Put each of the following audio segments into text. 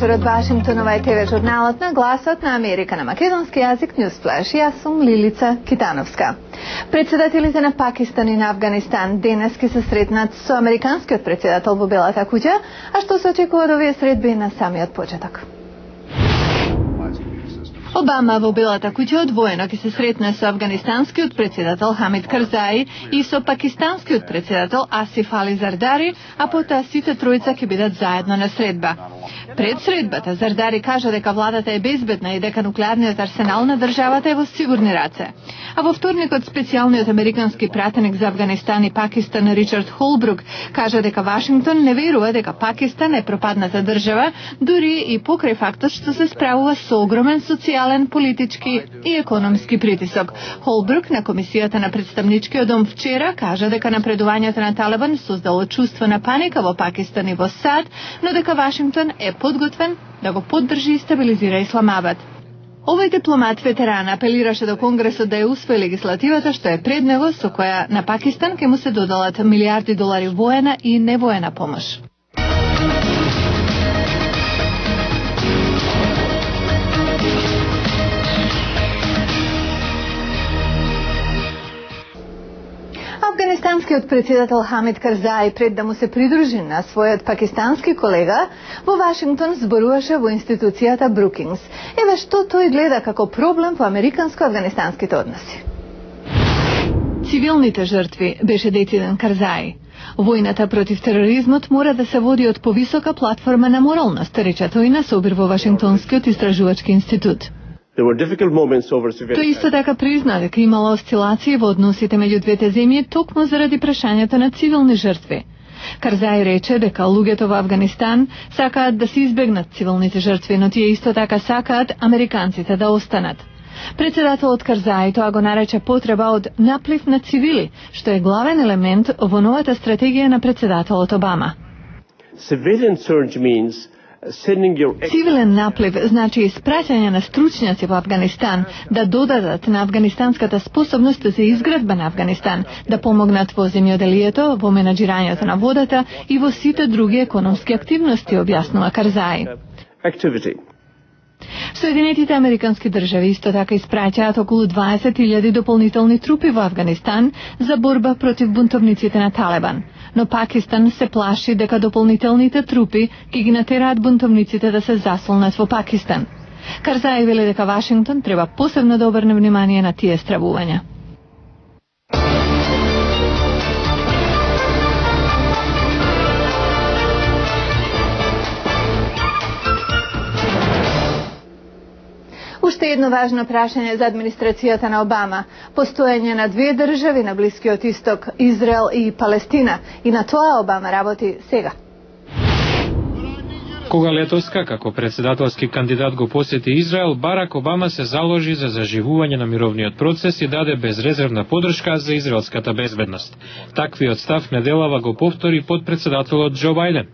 вечер од Вашингтонова и ТВ журналот на Гласот на Америка на македонски јазик Newsflash. Јас сум Лилица Китановска. Председателите на Пакистан и на Афганистан денес ќе се сретнат со американскиот председател во Белата куќа, а што се очекува од овие средби на самиот почеток. Обама во Белата куќа одвоено ќе се сретне со афганистанскиот председател Хамид Карзаи и со пакистанскиот председател Асиф Али Зардари, а потоа сите тројца ќе бидат заедно на средба. Пред средбата Зардари кажа дека владата е безбедна и дека нуклеарниот арсенал на државата е во сигурни раце. А во вторникот специјалниот американски пратеник за Афганистан и Пакистан Ричард Холбрук кажа дека Вашингтон не верува дека Пакистан е пропадната држава, дури и покрај фактот што се справува со огромен социјален, политички и економски притисок. Холбрук на комисијата на представничкиот дом вчера кажа дека напредувањето на Талибан создало чувство на паника во Пакистан и во САД, но дека Вашингтон е подготвен да го поддржи и стабилизира Исламабад. Овој дипломат ветеран апелираше до Конгресот да ја усвои легислативата што е пред него, со која на Пакистан ќе му се додалат милиарди долари воена и невоена помош. Афганистанскиот председател Хамид Карзаи, пред да му се придружи на својот пакистански колега, во Вашингтон зборуваше во институцијата Брукингс. Еве што тој гледа како проблем по американско-афганистанските односи. Цивилните жртви, беше дециден Карзаи. Војната против тероризмот мора да се води од повисока платформа на моралност, рече тој на собир во Вашингтонскиот истражувачки институт. Тој исто така призна дека имало осцилации во односите меѓу двете земји токму заради прашањето на цивилни жртви. Карзаи рече дека луѓето во Афганистан сакаат да се избегнат цивилните жртви, но тие исто така сакаат американците да останат. Председателот Карзаи тоа го нарече потреба од наплив на цивили, што е главен елемент во новата стратегија на председателот Обама. Цивилен наплив значи испраќање на стручњаци во Афганистан да додадат на афганистанската способност за изградба на Афганистан, да помогнат во земјоделието, во менаџирањето на водата и во сите други економски активности, објаснува Карзаи. Соединетите американски држави исто така испраќаат околу 20.000 дополнителни трупи во Афганистан за борба против бунтовниците на Талибан. Но Пакистан се плаши дека дополнителните трупи ќе ги натераат бунтовниците да се заслонат во Пакистан. Карзаи вели дека Вашингтон треба посебно да обрне внимание на тие стравувања. Уште едно важно прашање за администрацијата на Обама. Постоење на две држави на Блискиот Исток, Израел и Палестина. И на тоа Обама работи сега. Кога летоска, како председателски кандидат го посети Израел, Барак Обама се заложи за заживување на мировниот процес и даде безрезервна поддршка за израелската безбедност. Таквиот став неделава го повтори подпредседателот Џо Бајден.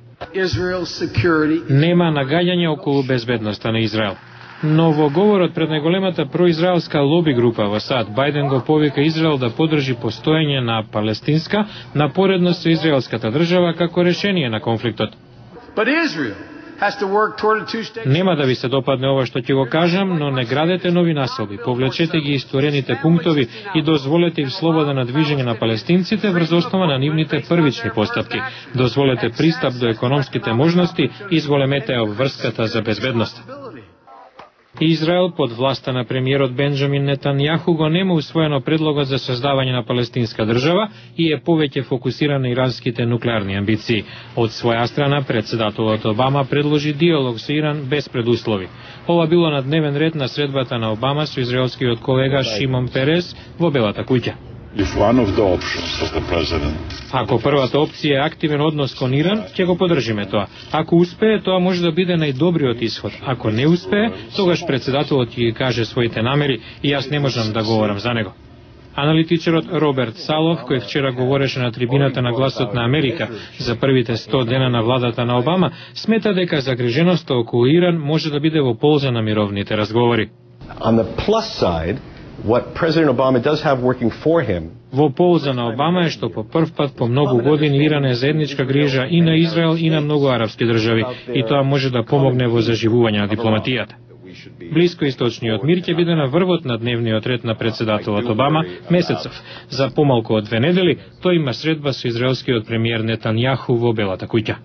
Нема нагаѓање околу безбедноста на Израел. Но во говорот пред најголемата произраелска лоби група во САД, Бајден го повика Израел да поддржи постоење на палестинска напоредно со израелската држава како решение на конфликтот. Нема да ви се допадне ова што ќе го кажам, но не градете нови населби, повлечете ги истворените пунктови и дозволете им слободно движење на палестинците врз основа на нивните првични постапки. Дозволете пристап до економските можности и зголемете обврската за безбедност. Израел под власта на премиерот Бенџамин Нетањаху го нема усвоено предлогот за создавање на палестинска држава и е повеќе фокусиран на иранските нуклеарни амбиции. Од своја страна, председателот Обама предложи диалог со Иран без предуслови. Ова било на дневен ред на средбата на Обама со израелскиот колега Шимон Перес во Белата куќа. Ако првата опција е активен однос кон Иран, ќе го поддржиме тоа. Ако успее, тоа може да биде најдобриот исход. Ако не успее, тогаш председателот ќе каже своите намери и јас не можам да говорам за него. Аналитичарот Роберт Салов, кој вчера говореше на трибината на Гласот на Америка за првите 100 дена на владата на Обама, смета дека загриженоста околу Иран може да биде во полза на мировните разговори. What President Obama does have working for him. Во полза на Обама е што по прв пат по многу години Иран е заедничка грижа и на Израел и на многу арапски држави, и тоа може да помогне во заживување на дипломатијата. Блискоисточниот мир ќе биде на врвот на дневниот ред на председателот Обама месецов. За помалку од 2 недели тој има средба со израелскиот премиер Нетањаху во Белата куќа.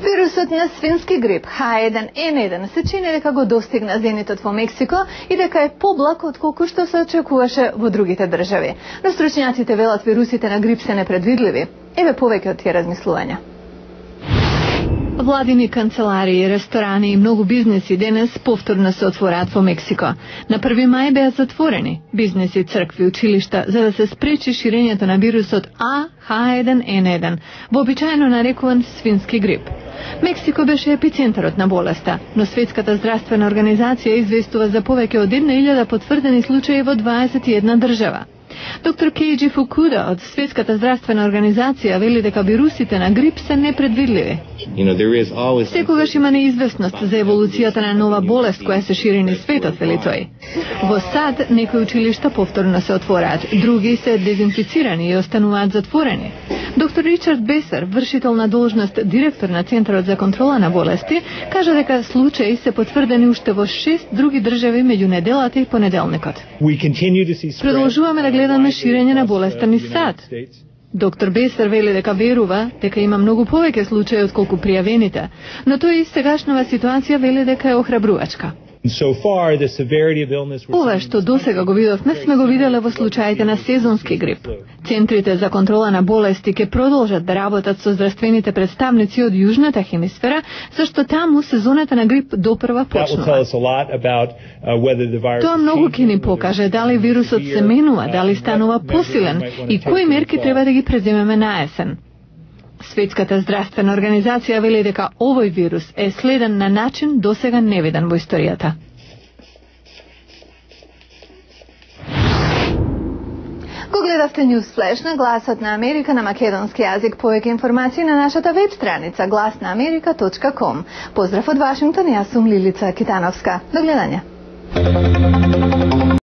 Вирусот на свински грип H1N1 се чини дека го достигна зенитот во Мексико и дека е поблак отколку што се очекуваше во другите држави. Но стручњаците велат вирусите на грип се непредвидливи. Еве повеќе од тие размислувања. Владини канцеларии, ресторани и многу бизнеси денес повторно се отвораат во Мексико. На 1 мај беа затворени бизнеси, цркви, училишта за да се спречи ширењето на вирусот H1N1, вообичаено нарекуван свински грип. Мексико беше епицентарот на болеста, но Светската здравствена организација известува за повеќе од 1000 потврдени случаи во 21 држава. Доктор Кейджи Фукуда од Светската здравствена организација вели дека вирусите на грип се непредвидливи. Секогаш има неизвестност за еволуцијата на нова болест која се шири низ светот, вели тој. Во САД некои училишта повторно се отвораат, други се дезинфицирани и остануваат затворени. Доктор Ричард Бесер, вршител на должност директор на Центарот за контрола на болести, кажа дека случаи се потврдени уште во 6 други држави меѓу неделата и понеделникот. Продолжуваме да гледаме ширење на болеста низ САД. Доктор Бесер вели дека верува дека има многу повеќе случаи отколку пријавените, но тој и сегашнава ситуација вели дека е охрабрувачка. Ова што досега го видовме сме го виделе во случаите на сезонски грип. Центрите за контрола на болести ќе продолжат да работат со здравствените представници од јужната хемисфера, зашто таму сезоната на грип допрва почнува. Тоа многу ќе ни покаже дали вирусот се менува, дали станува посилен и кои мерки треба да ги преземеме на есен. Светската здравствена организација вели дека овој вирус е следен на начин досега невиден во историјата. Го гледавте News Flash на Гласот на Америка на македонски јазик. Повеќе информации на нашата веб страница glasnaamerika.com. Поздрав од Вашингтон, јас сум Лилица Китановска. До гледање.